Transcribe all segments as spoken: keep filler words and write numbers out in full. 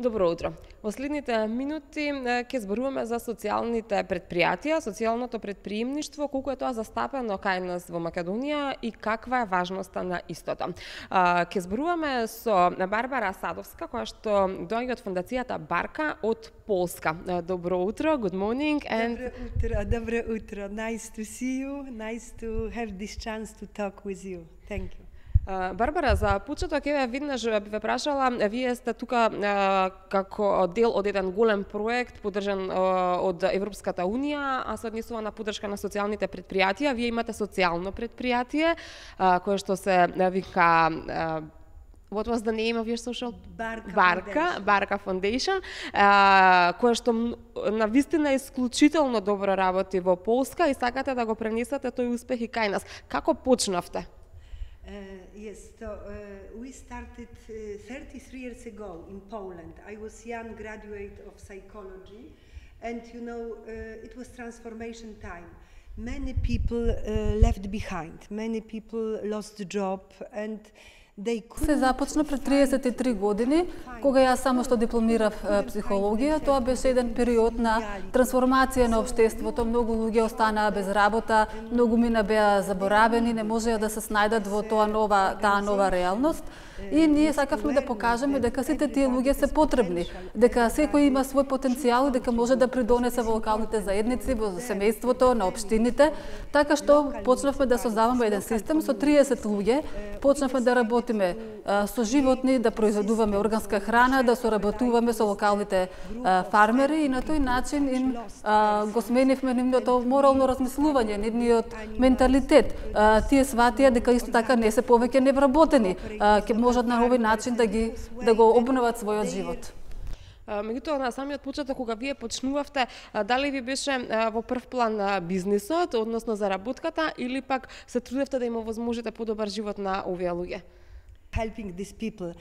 Добро утро. Во следните минути ќе зборуваме за социјалните предпријатија, социјалното предприемништво, колку е тоа застапено кај нас во Македонија и каква е важноста на истото. Ќе зборуваме со Барбара Садовска, која што доаѓа од фондацијата Барка од Полска. Добро утро, good morning. And... Добро утро, добро утро. Nice to see you, nice to have this chance to talk with you. Thank you. Барбара, за почеток еве веднаш ве прашала, вие сте тука како дел од еден голем проект поддржан од Европската унија, а се однесува на поддршка на социјалните предпријатија. Вие имате социјално предпријатие кое што се вика What was the name of your social? Barka, Barka, Foundation. Barka Foundation, uh, кое што на вистина исклучително добро работи во Полска и сакате да го пренесете тој успех и кај нас. Како почнавте? Uh, yes, so uh, we started uh, thirty-three years ago in Poland. I was young graduate of psychology, and you know, uh, it was transformation time. Many people uh, left behind, many people lost the job, and Се започна пред триесет и три години, кога јас само што дипломирав психологија. Тоа беше еден период на трансформација на општеството. Многу луѓе останаа без работа, многу мина беа заборавени, не можеа да се снајдат во тоа нова, таа нова реалност. И ние сакавме да покажеме дека сите тие луѓе се потребни, дека секој има свој потенцијал и дека може да придонесе во локалните заедници, во семејството, на општините. Така што почнавме да создаваме еден систем со триесет луѓе, почнавме да работиме а, со животни, да произведуваме органска храна, да соработуваме со локалните а, фармери и на тој начин им а, го сменивме нивното морално размислување, нивниот менталитет. А, тие сватија дека исто така не се повеќе невработени, а, ќе можат на овој начин да ги да го обноват својот живот. Меѓутоа, на самиот почеток, кога вие почнувавте, дали ви беше во прв план бизнисот, односно заработката, или пак се трудевте да им овозможите подобар живот на овие луѓе? Helping these people.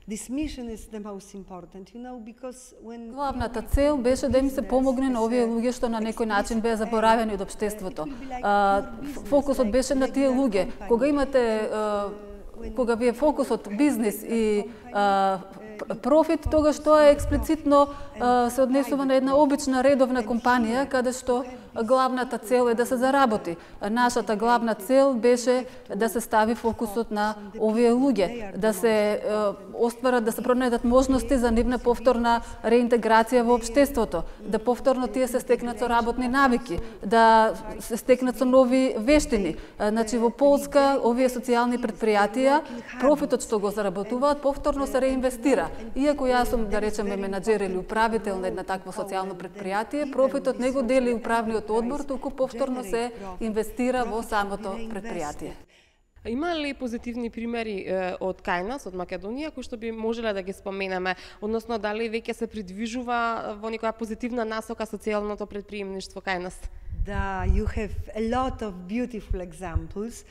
This mission is the most important, you know, because when Главната цел беше да им се помогне на овие луѓе што на некој начин беа заборавени од општеството. Фокусот беше на тие луѓе. Кога имате кога ви е фокусот бизнис и а, профит, тогаш тоа е експлицитно а, се однесува на една обична редовна компанија, каде што главната цел е да се заработи. Нашата главна цел беше да се стави фокусот на овие луѓе, да се а, остварат, да се пронајдат можности за нивна повторна реинтеграција во општеството, да повторно тие се стекнат со работни навики, да се стекнат со нови вештини. Значи во Полска овие социјални предпријатија, профитот што го заработуваат, повторно се реинвестира. Иако јас сум, да речеме, менаџер или управител на една такво социјално предпријатие, профитот не го дели управниот одбор, туку повторно се инвестира во самото предпријатие. Има ли позитивни примери е, од кај нас, од Македонија, кои што би можеле да ги споменеме, односно дали веќе се придвижува во некоја позитивна насока социјалното предприемништво кај нас? Да, you have a lot of beautiful examples,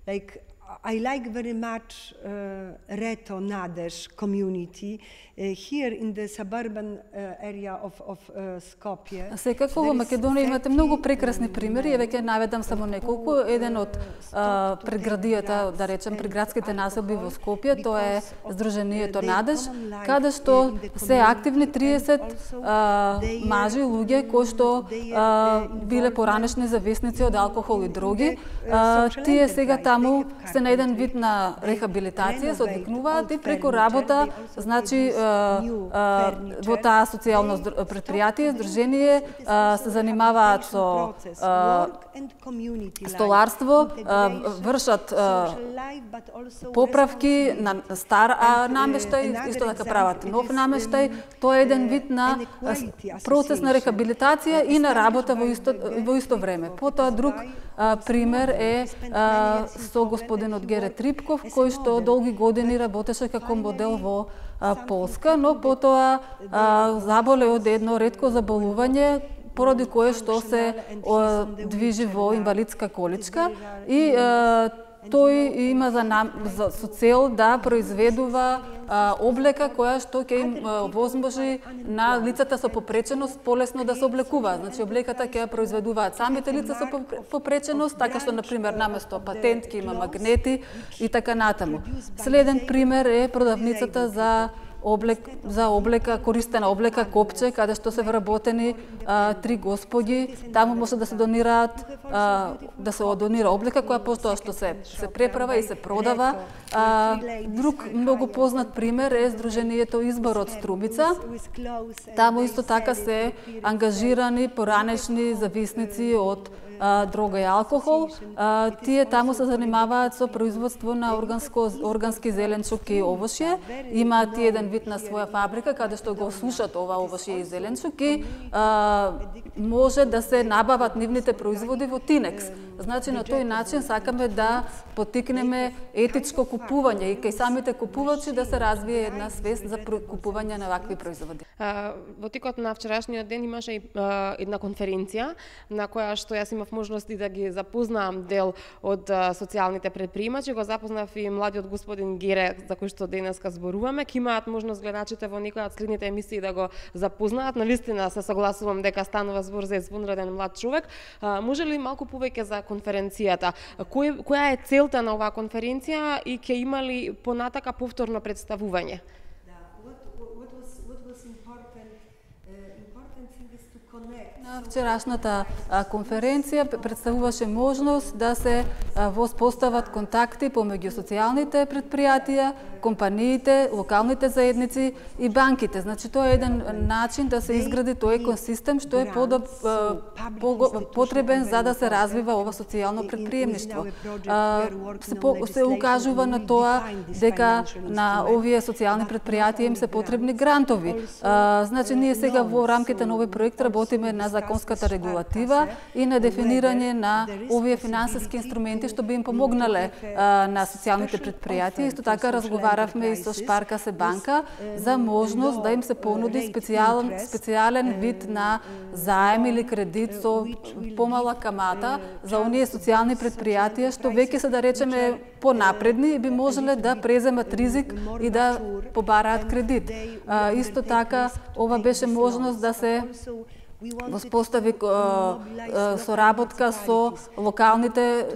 like I like very much uh, Reto Nadez community uh, here in the suburban uh, area of, of uh, Skopje. Секако во Македонија имате многу прекрасни примери, еве ќе наведам само неколку. Еден од а, предградијата, да речем, приградските населби во Скопје, тоа е Сдруженијето Надеж, каде што се активни триесет а, мажи, луѓе кои што а, биле поранешни зависници од алкохол и дроги. А, тие сега таму се на еден вид на рехабилитација, се одвикнуваат и преку работа, значи во таа социјално предпријатие, здружение, се занимаваат со столарство, вршат поправки на стар намештај, исто така прават нов намештај. Тоа е еден вид на процес на рехабилитација и на работа во исто, во исто време. Потоа друг пример е со господинот Гере Трипков, кој што долги години работеше како модел во Полска, но потоа заболе од едно ретко заболување, поради кое што се движи во инвалидска количка и тој има за, нам, за со цел да произведува а, облека која што ќе им возможи на лицата со попреченост полесно да се облекуваат. Значи облеката ќе ја произведуваат самите лица со попреченост, така што на пример наместо патент ќе има магнети и така натаму. Следен пример е продавницата за облек за облека, користена облека Копче, каде што се вработени а, три господи. Таму може да се донираат, а, да се донира облека која постоја што се се преправа и се продава. А, друг многу познат пример е Сдруженијето Изборот Струмица. Таму исто така се ангажирани поранешни зависници од а, дрога и алкохол. А, тие таму се занимаваат со производство на органско, органски зеленчук и овошје. Имаат тие еден вид на своја фабрика каде што го сушат ова овошје и зеленчук и а, може да се набават нивните производи во Тинекс. Значи на тој начин сакаме да поттикнеме етичко купување и кај самите купувачи да се развие една свест за купување на вакви производи. Во текот на вчерашниот ден имаше и една конференција на која што јас имав можности да ги запознам дел од социјалните претприемачи, го запознав и младиот господин Гере, за кој што денеска зборуваме. Ке имаат можност гледачите во некоја од следните емисии да го запознаат. Навистина се согласувам дека станува збор за извонреден млад човек. Може ли малку повеќе за конференцијата? Кој, која е целта на оваа конференција и ќе има ли понатака повторно представување? На вчерашната конференција представуваше можност да се воспостават контакти помеѓу социјалните предпријатија, компаниите, локалните заедници и банките. Значи тоа е еден начин да се изгради тој екосистем што е подоб, потребен за да се развива ова социјално предприемништво. Се, по, се укажува на тоа дека на овие социјални предпријатија им се потребни грантови. Значи ние сега во рамките на овој проект работиме на законската регулатива и на дефинирање на овие финансиски инструменти што би им помогнале а, на социјалните предпријатија. Исто така разговаравме и со Шпарка се банка за можност да им се понуди специјален специјален вид на заем или кредит со помала камата за оние социјални предпријатија што веќе се да речеме понапредни и би можеле да преземат ризик и да побараат кредит. А, исто така ова беше можност да се воспостави соработка со локалните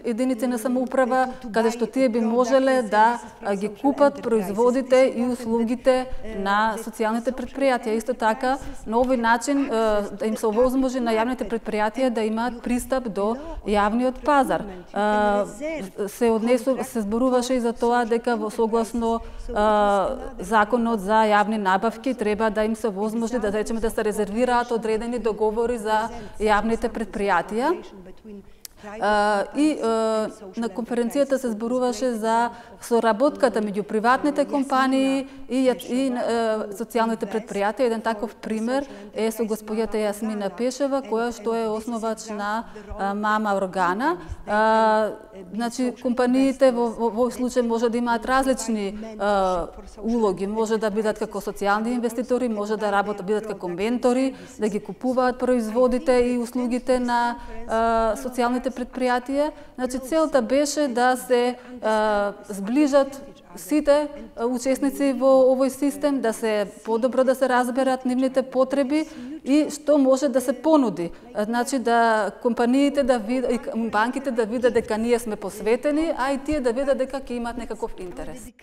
единици на самоуправа, каде што тие би можеле да ги купат производите и услугите на социјалните предпријатија. Исто така, на овој начин да им се овозможи на јавните предпријатија да имаат пристап до јавниот пазар. Се однесу, се зборуваше и за тоа дека во согласно законот за јавни набавки треба да им се овозможи да речеме да се резервира одредени договори за јавните предпријатија. Uh, и uh, на конференцијата се зборуваше за соработката меѓу приватните компании и, и uh, социјалните предпријатија. Еден таков пример е со господјата Јасмина Пешева, која што е основач на uh, Мама Органа. Uh, значи, компаниите во, во, во случај може да имаат различни uh, улоги. Може да бидат како социјални инвеститори, може да работат, бидат како ментори, да ги купуваат производите и услугите на uh, социјалните предпријатија. Значи целта беше да се а, сближат сите учесници во овој систем, да се подобро да се разберат нивните потреби и што може да се понуди. Значи да компаниите да видат, банките да видат дека ние сме посветени, а и тие да видат дека ќе имаат некаков интерес.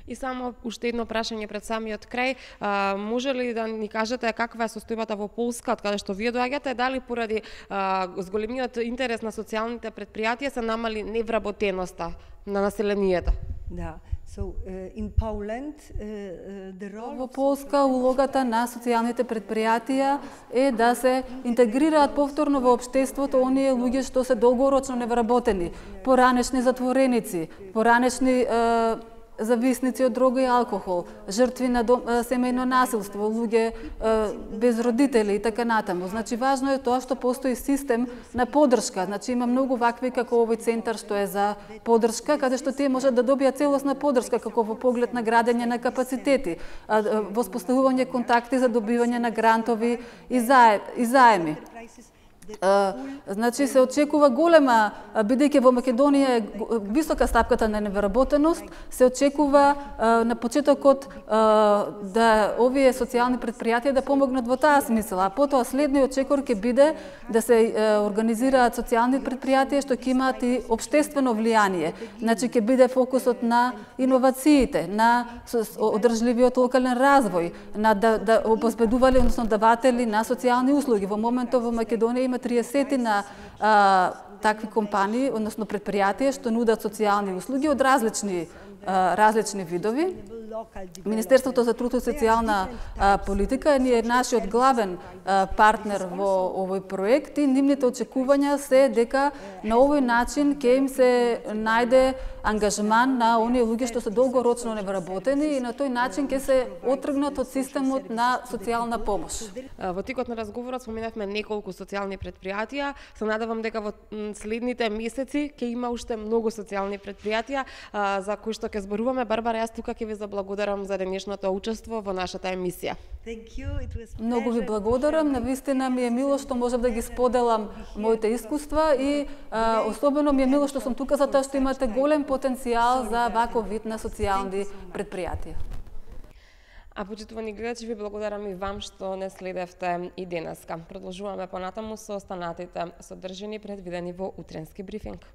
И само уште едно прашање пред самиот крај. А, може ли да ни кажете каква е состојбата во Полска, од каде што вие доаѓате, дали поради а, зголемиот интерес на социјалните предпријатија се намали невработеноста на населението? Да. So, uh, in Poland, uh, the role... Во Полска улогата на социјалните предпријатија е да се интегрираат повторно во општеството оние луѓе што се долгорочно невработени, поранешни затвореници, поранешни uh, зависници од дрога и алкохол, жртви на дом, семејно насилство, луѓе без родители и така натаму. Значи важно е тоа што постои систем на поддршка. Значи има многу вакви како овој центар што е за поддршка, каде што тие можат да добијат целосна поддршка како во поглед на градење на капацитети, воспоставување контакти за добивање на грантови и заеми. Значи се очекува голема, бидејќи во Македонија е висока стапката на невработеност, се очекува на почетокот да овие социјални претпријатија да помогнат во таа смисла, а потоа следниот чекор ќе биде да се организираат социјални претпријатија што ќе имаат и општествено влијание. Значи ќе биде фокусот на иновациите, на одржливиот локален развој, на да, да обезбедували, односно даватели на социјални услуги. Во моментот во Македонија има триесет на а, такви компании, односно предпријатија што нудат социјални услуги од различни а, различни видови. Министерството за труд и социјална а, политика е нашиот главен а, партнер во овој проект и нивните очекувања се дека на овој начин ќе им се најде ангажман на оние луѓе што се долгорочно невработени и на тој начин ќе се отргнат од системот на социјална помош. Во текот на разговорот споменавме неколку социјални претпријатија. Се надевам дека во следните месеци ќе има уште многу социјални претпријатија за кои што ќе зборуваме. Барбара, јас тука ќе ви заблагодарам за денешното учество во нашата емисија. Многу ви благодарам, навистина ми е мило што можев да ги споделам моите искуства и а, особено ми е мило што сум тука затоа што имате голем потенцијал за ваков вид на социјални претпријатија. А почитувани гледачи, ви благодарам и вам што не следевте и денеска. Продолжуваме понатаму со останатите содржини предвидени во утренски брифинг.